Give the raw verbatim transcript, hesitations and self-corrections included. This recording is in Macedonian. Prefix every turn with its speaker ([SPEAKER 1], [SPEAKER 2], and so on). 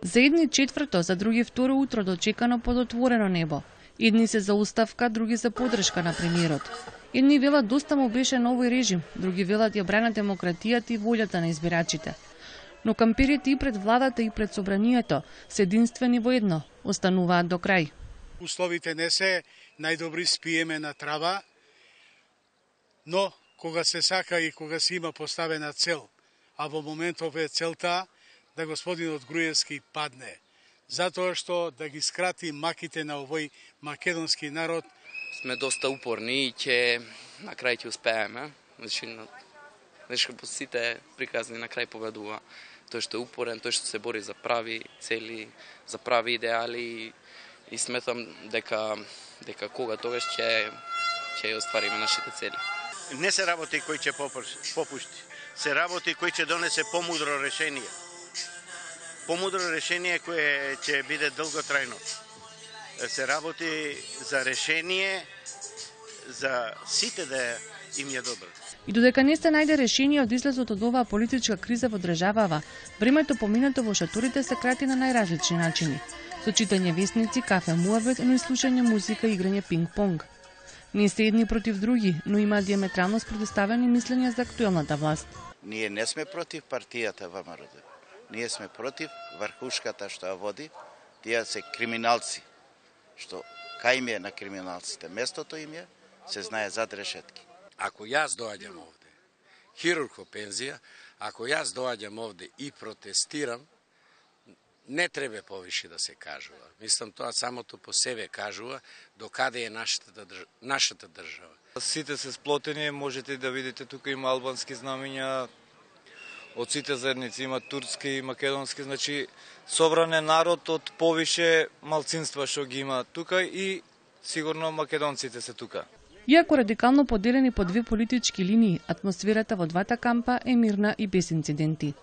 [SPEAKER 1] За едни четврто, за други второ утро дочекано под отворено небо. Едни се за оставка, други за подршка на премиерот. Едни велат доста му беше новој режим, други велат ја брана демократијата и волјата на избирачите. Но камперите и пред владата и пред собранието се единствени во едно, остануваат до крај.
[SPEAKER 2] Условите не се најдобри, спиеме на трава, но кога се сака и кога се има поставена цел, а во моментов е целта да господинот Груевски падне, затоа што да ги скрати маките на овој македонски народ.
[SPEAKER 3] Сме доста упорни и ќе на крај ќе успееме. Значи, значи по сите приказни на крај победува тој што е упорен, тој што се бори за прави цели, за прави идеали и сметам дека дека кога тогаш ќе ќе оствариме нашите цели.
[SPEAKER 4] Не се работи кој ќе попушти, се работи кој ќе донесе помудро решение. Помудро решение кое ќе биде долготрајно. Се работи за решение за сите да им е добро.
[SPEAKER 1] И додека не се најде решение од излезот од оваа политичка криза во државава, времето поминато во шаторите се крати на најразлични начини. Со читање весници, кафе муабет, но и слушање музика и играње пинг-понг. Не се едни против други, но има диаметрално спротивставени мислења за актуелната власт.
[SPEAKER 5] Ние не сме против партијата ВМРО. Ние сме против врхушката што ја води, тие се криминалци, што кај им е на криминалците, местото им е, се знае зад решетки.
[SPEAKER 6] Ако јас доаѓам овде, хирург во пензија, ако јас доаѓам овде и протестирам, не треба повише да се кажува. Мислам, тоа самото по себе кажува докаде е нашата, нашата држава.
[SPEAKER 7] Сите се сплотени, можете да видите, тука има албански знамења, од сите заедници има турски и македонски, значи собран е народ од повише малцинства што ги има тука и сигурно македонците се тука.
[SPEAKER 1] Иако радикално поделени по две политички линии, атмосферата во двата кампа е мирна и без инциденти.